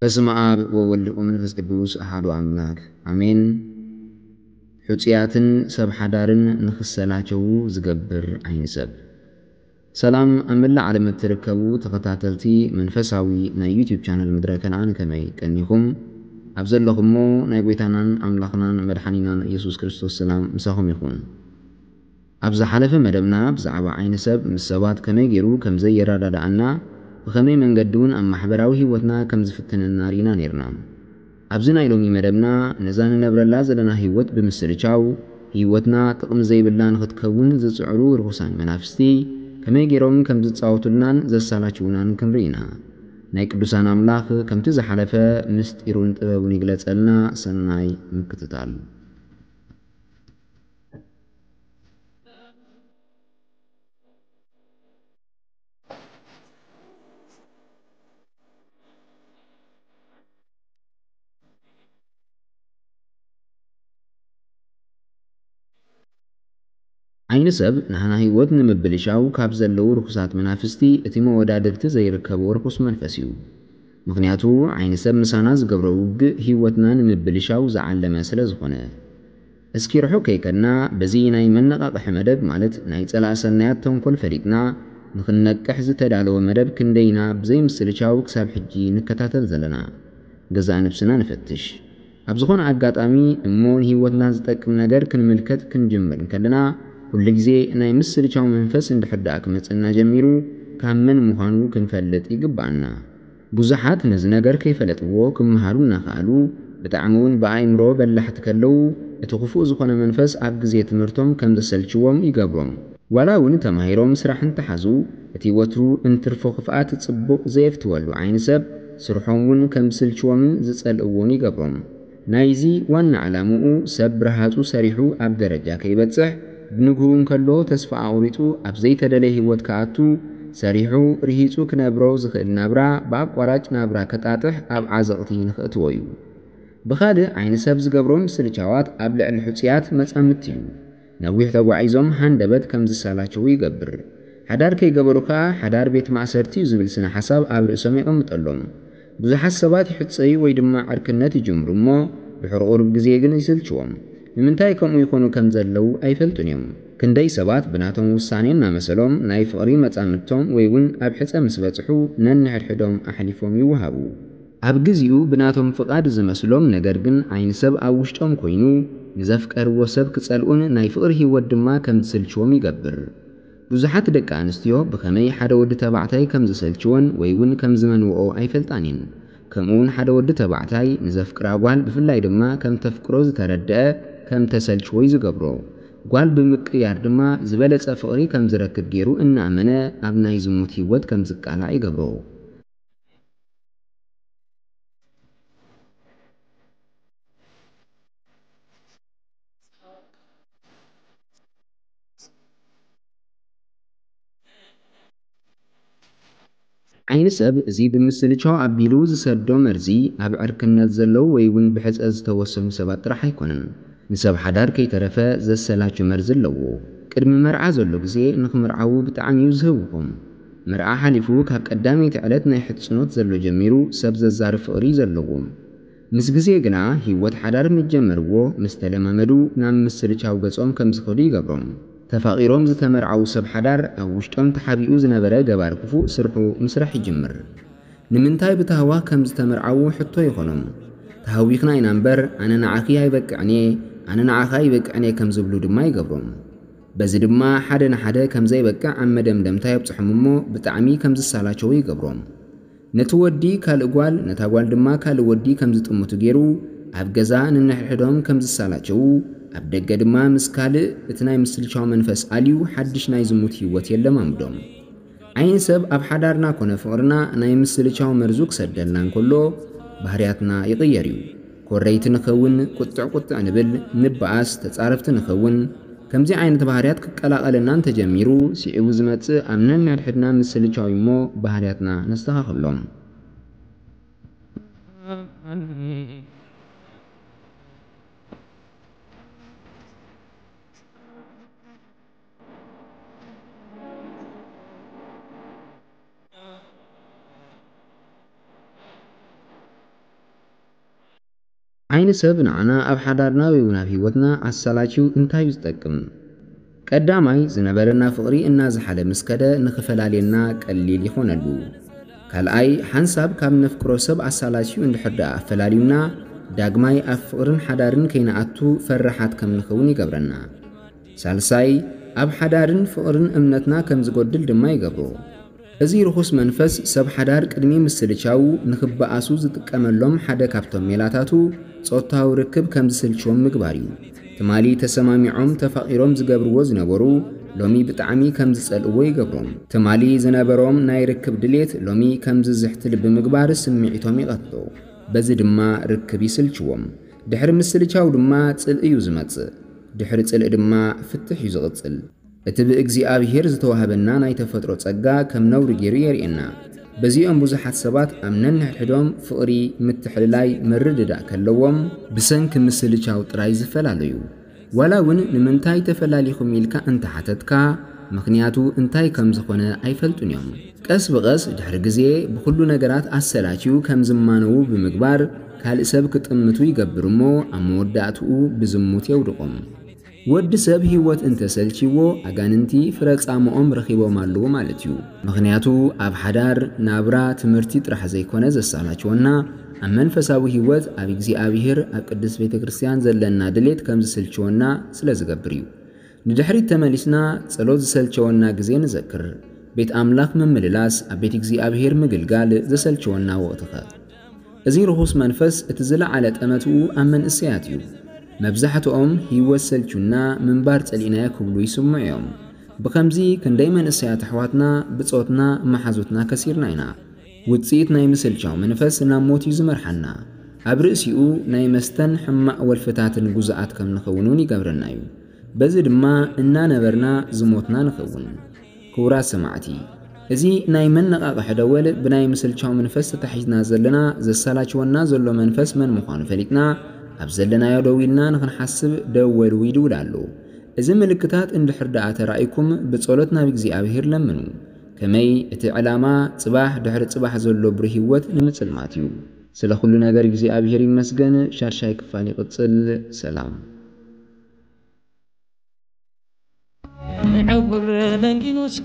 በስመ ኣብ ወወልድ ወመንፈስ ቅዱስ ኣሐዱ ኣምላክ ኣሜን። ሕጹያትን ሰብ ሓዳርን ንኽሰላቸዉ ዝገብር ዓይኒ ሰብ። ሰላም ኣብ መላእ ዓለም እትርከቡ ተኸታተልቲ መንፈሳዊ ናይ ዩቲዩብ ቻነል ምድረ ከነዓን፣ ከመይ ቀኒኹም? ኣብ ዘለኹሞ ናይ ጎይታናን ኣምላኽናን መድሓኒናን ኢየሱስ ክርስቶስ ሰላም ምሳኹም ይኹን። ኣብ ዝሓለፈ መደብና ብዛዕባ ዓይኒ ሰብ ምስ ሰባት ከመይ ገይሩ ከም ዘየረዳድኣና፣ ብኸመይ መንገዲ እውን ኣብ ማሕበራዊ ህይወትና ከም ዝፍትነና ርኢና ነይርና። ኣብዚ ናይ ሎሚ መደብና ነዛ ንነብረላ ዘለና ህይወት ብምስልቻው፣ ህይወትና ጥቕሚ ዘይብላ ንኽትከውን ዝጽዕሩ ርኹሳን መናፍስቲ ከመይ ገይሮም ከም ዝጻወቱልናን ዘሳላችዉናን ክንርኢ ኢና። ናይ ቅዱሳን ኣምላኽ ከምቲ ዝሓለፈ ምስጢሩን ጥበቡን ይግለጸልና። ሰናይ ምክትታል። ዓይኒ ሰብ ናህና ህይወት ንምብልሻው ካብ ዘለዉ ርኹሳት መናፍስቲ እቲ መወዳድርቲ ዘይርከቦ ርኹስ መንፈስ እዩ። ምኽንያቱ ዓይኒ ሰብ ምሳና ዝገብሮ ውግእ ህይወትና ንምብልሻው ዝዓለመ ስለ ዝኾነ። እስኪ ርሑቕ ከይከድና በዚ ናይ መነቓቕሒ መደብ ማለት ናይ ጸላእ ሰናያት ተንኮል ፈሊጥና ንኽንነቅሕ ዝተዳለወ መደብ ክንደይና ብዘይምስልቻው ክሳብ ሕጂ ንከታተል ዘለና። ገዛእ ነብስና ንፈትሽ። ኣብ ዝኾነ ኣጋጣሚ እሞ ንህይወትና ዝጠቅም ነገር ክንምልከት ክንጅምር እንከለና፣ ኩሉ ግዜ ናይ ምስልቻው መንፈስ እንድሕር ደኣ ክመጽእና ጀሚሩ፣ ካብ መን ምዃኑ ክንፈልጥ ይግብኣና። ብዙሓት ነዚ ነገር ከይፈለጥዎ ክምሃሩ እናኸኣሉ፣ ብጣዕሚ እውን ብኣእምሮ በላሕቲ ከለዉ፣ እቲ ክፉእ ዝኾነ መንፈስ ኣብ ግዜ ትምህርቶም ከም ዘሰልችዎም ይገብሮም። ዋላ እውን ተማሂሮም ስራሕ እንተሓዙ፣ እቲ ወትሩ እንትርፎ ክፍኣት ጽቡቕ ዘየፍትወሉ ዓይኒ ሰብ፣ ስርሖም እውን ከም ዝስልችዎምን ዝጸልእዎን ይገብሮም። ናይዚ ዋና ዕላምኡ፣ ሰብ ብርሃጹ ሰሪሑ ኣብ ደረጃ ከይበጽሕ፣ ብንግሁ እንከሎ ተስፋ ኣቑሪጹ ኣብ ዘይተደለየ ህይወት ክኣቱ፣ ሰሪሑ ርሂጹ ክነብሮ ዝኽእል ናብራ ብኣቋራጭ ናብራ ከጣጥሕ ኣብ ዓዘቕቲ ንኽእትዎ እዩ። ብኻልእ ዓይኒ ሰብ ዝገብሮ ምስልቻዋት ኣብ ልዕሊ ሕጹያት መጻምድቲ እዩ። ነዊሕ ተጓዒዞም ሃንደበት ከም ዝሰላቸዉ ይገብር። ሓዳር ከይገበሩ ከኣ ሓዳር ቤት ማእሰርቲ እዩ ዝብል ስነ ሓሳብ ኣብ ርእሶም የቐምጠሎም። ብዙሓት ሰባት ይሕጸዩ ወይ ድማ ዕርክነት ይጅምሩ እሞ ድሕሪ ቁሩብ ግዜ ግን ይስልችዎም። ንምንታይ ከምኡ ይኾኑ ከም ዘለዉ ኣይፈልጡን እዮም። ክንደይ ሰባት ብናቶም ውሳኔ እናመሰሎም ናይ ፍቕሪ መጻምድቶም ወይ እውን ኣብ ሕጸ ምስ በጽሑ ነንሕድሕዶም ኣሕሊፎም ይወሃቡ። ኣብ ግዚኡ ብናቶም ፍቓድ ዝመስሎም ነገር ግን ዓይኒ ሰብ ኣብ ውሽጦም ኮይኑ ንዘፍቀርዎ ሰብ ክጸልኡን ናይ ፍቕሪ ህይወት ድማ ከም ዝስልችዎም ይገብር። ብዙሓት ደቂ ኣንስትዮ ብኸመይ ሓደ ወዲ ተባዕታይ ከም ዝሰልችወን ወይ እውን ከም ዝመንውኦ ኣይፈልጣን እየን። ከምኡ እውን ሓደ ወዲ ተባዕታይ ንዘፍቅራ ጓል ብፍላይ ድማ ከም ተፍቅሮ ዝተረድአ ከም ተሰልችዎ እዩ ዝገብሮ። ጓል ብምቅያር ድማ ዝበለጸ ፍቕሪ ከም ዝረክብ ገይሩ እናኣመነ ኣብ ናይ ዝሙት ህይወት ከም ዝቃላዕ ይገብሮ። ዓይኒ ሰብ እዚ ብምስልቻው ኣቢሉ ዝሰዶ መርዚ ኣብ ዕርክነት ዘለዉ ወይ እውን ብሕጸ ዝተወሰኑ ሰባት ጥራሕ ኣይኮነን። ንሰብ ሓዳር ከይተረፈ ዘሰላቹ መርዚ ኣለዎ። ቅድሚ መርዓ ዘሎ ግዜ ንኽምርዓዉ ብጣዕሚ እዩ ዝህውኹም። መርዓ ሓሊፉ ካብ ቀዳመይቲ ዕለት ናይ ሕጽኖት ዘሎ ጀሚሩ ሰብ ዘዛርብ ፍቕሪ እዩ ዘለዎም። ምስ ግዜ ግና ህይወት ሓዳር ምስ ጀመርዎ፣ ምስ ተለማመዱ ናብ ምስልቻው ገጾም ከም ዝኸዱ ይገብሮም። ተፋቒሮም ዝተመርዓዉ ሰብ ሓዳር ኣብ ውሽጦም ተሓቢኡ ዝነበረ ገባር ክፉእ ስርሑ ምስራሕ ይጅምር። ንምንታይ ብታህዋኽ ከም ዝተመርዓዉ ሕቶ ይኾኖም። ተሃዊኽና ኢና እምበር ኣነ ንዓኺ ኣይበቅዕን እየ፣ ኣነ ንዓኻ ኣይበቅዕን እየ ከም ዝብሉ ድማ ይገብሮም። በዚ ድማ ሓደ ንሓደ ከም ዘይበቅዕ ኣብ መደምደምታ የብጽሖም እሞ ብጣዕሚ ከም ዝሳላቸው ይገብሮም። ነቲ ወዲ ካልእ ጓል፣ ነታ ጓል ድማ ካልእ ወዲ ከም ዝጥምቱ ገይሩ ኣብ ገዛ ንንሕድሕዶም ከም ዝሳላቸው፣ ኣብ ደገ ድማ ምስ ካልእ እቲ ናይ ምስልቻው መንፈስ ኣልዩ ሓድሽ ናይ ዝሙት ህይወት የለማምዶም። ዓይኒ ሰብ ኣብ ሓዳርና ኮነ ፍቕርና ናይ ምስልቻው መርዙ ክሰደልና እንከሎ ባህርያትና ይቕየር እዩ። ኮረይቲ ንኸውን፣ ቁጥዕ ቁጥዕ ንብል፣ ንበኣስ፣ ተጻረፍቲ ንኸውን። ከምዚ ዓይነት ባህርያት ክቀላቐለና እንተጀሚሩ፣ ስዒቡ ዝመጽእ ኣብ ነንሕድሕድና ምስልቻው እዩ እሞ ባህርያትና ነስተኻኽሎም። ዓይኒ ሰብ ንዓና ኣብ ሓዳርና ወይ እውን ኣብ ህይወትና ኣሳላችው እንታይ እዩ ዝጠቅም? ቀዳማይ፣ ዝነበረና ፍቕሪ እናዝሓለ ምስ ከደ ንኽፈላልየና ቀሊል ይኾነሉ። ካልኣይ፣ ሓንሳብ ካብ ነፍቅሮ ሰብ ኣሳላችው እንድሕር ደኣ ኣፈላልዩና፣ ዳግማይ ኣብ ፍቕርን ሓዳርን ከይንኣቱ ፈራሓት ከም ንኸውን ይገብረና። ሳልሳይ፣ ኣብ ሓዳርን ፍቕርን እምነትና ከም ዝጎድል ድማ ይገብሮ። እዚ ርኹስ መንፈስ ሰብ ሓዳር ቅድሚ ምስልቻው ንኽበኣሱ ዝጥቀመሎም ሓደ ካብቶም ሜላታቱ ጾታዊ ርክብ ከም ዝስልችዎም ምግባር እዩ። ትማሊ ተሰማሚዖም ተፋቒሮም ዝገብርዎ ዝነበሩ ሎሚ ብጣዕሚ ከም ዝጸልእዎ ይገብሮም። ትማሊ ዝነበሮም ናይ ርክብ ድሌት ሎሚ ከም ዝዝሕትል ብምግባር ስምዒቶም ይቐትሎ። በዚ ድማ ርክብ ይስልችዎም። ድሕሪ ምስልቻው ድማ ጽልኢ እዩ ዝመጽእ። ድሕሪ ጽልኢ ድማ ፍትሕ እዩ ዝቕጽል። እቲ ብእግዚኣብሔር ዝተዋህበና ናይ ተፈጥሮ ጸጋ ከም ነውሪ ገይሩ የርእየና። በዚኦም ብዙሓት ሰባት ኣብ ነንሕድሕዶም ፍቕሪ፣ ምትሕልላይ፣ ምርድዳእ ከለዎም ብሰንኪ ምስልቻው ጥራይ ዝፈላለዩ። ዋላ እውን ንምንታይ ተፈላሊኹም ኢልካ እንተሓተትካ፣ ምኽንያቱ እንታይ ከም ዝኾነ ኣይፈልጡን እዮም። ቀስ ብቐስ ድሕሪ ግዜ ብኹሉ ነገራት ኣሰላችዩ ከም ዝማነዉ ብምግባር ካልእ ሰብ ክጥምቱ ይገብር እሞ ኣብ መወዳእትኡ ብዝሙት የውድቖም። ወዲ ሰብ ህይወት እንተሰልችዎ ኣጋንንቲ ፍረ ጻምኦም ረኺቦም ኣለዉ ማለት እዩ። ምኽንያቱ ኣብ ሓዳር ናብራ ትምህርቲ ጥራሕ ዘይኮነ ዘሳላችወና ኣብ መንፈሳዊ ህይወት ኣብ እግዚኣብሔር ኣብ ቅድስት ቤተ ክርስቲያን ዘለና ድሌት ከም ዝስልችወና ስለ ዝገብር እዩ። ንድሕሪት ተመሊስና ጸሎት ዝሰልቸወና ግዜ ንዘክር። ቤት ኣምላኽ ምምልላስ ኣብ ቤት እግዚኣብሔር ምግልጋል ዘሰልቸወና ወቕትኸ? እዚ ርኹስ መንፈስ እቲ ዝለዓለ ጠመትኡ ኣብ መንእሰያት እዩ። መብዛሕትኦም ህይወት ሰልቹና ምንባር ጸሊእናዮ ክብሉ ይስምዑ እዮም። ብኸምዚ ክንደይ መንእሰያት ኣሕዋትና ብጾትና መሓዙትና ከሲርና ኢና። ውጽኢት ናይ ምስልቻው መንፈስ ናብ ሞት እዩ ዝመርሓና። ኣብ ርእሲኡ ናይ መስተን ሕማቕ ወልፍታትን ጉዙኣት ከም ንኸውን እውን ይገብረና እዩ። በዚ ድማ እናነበርና ዝሞትና ንኸውን። ክቡራት ሰማዕቲ፣ እዚ ናይ መነቓቕሒ ደወል ብናይ ምስልቻው መንፈስ ተታሒዝና ዘለና ዘሳላችወና ዘሎ መንፈስ መን ምዃኑ ፈሊጥና ኣብ ዘለናዮ ደው ኢልና ንኽንሓስብ ደወሉ ይድውል ኣሎ። እዚ ምልክታት እንድሕር ደኣ ተራእይኩም ብጸሎት ናብ እግዚኣብሔር ለምኑ። ከመይ እቲ ዕላማ ጽባሕ ድሕሪ ጽባሕ ዘሎ ብሩህ ህይወት ንምጽልማት እዩ። ስለ ኩሉ ነገር እግዚኣብሔር ይመስገን። ሻድሻይ ክፋል ይቕጽል። ሰላም። ንዕውር ለንጊኖስ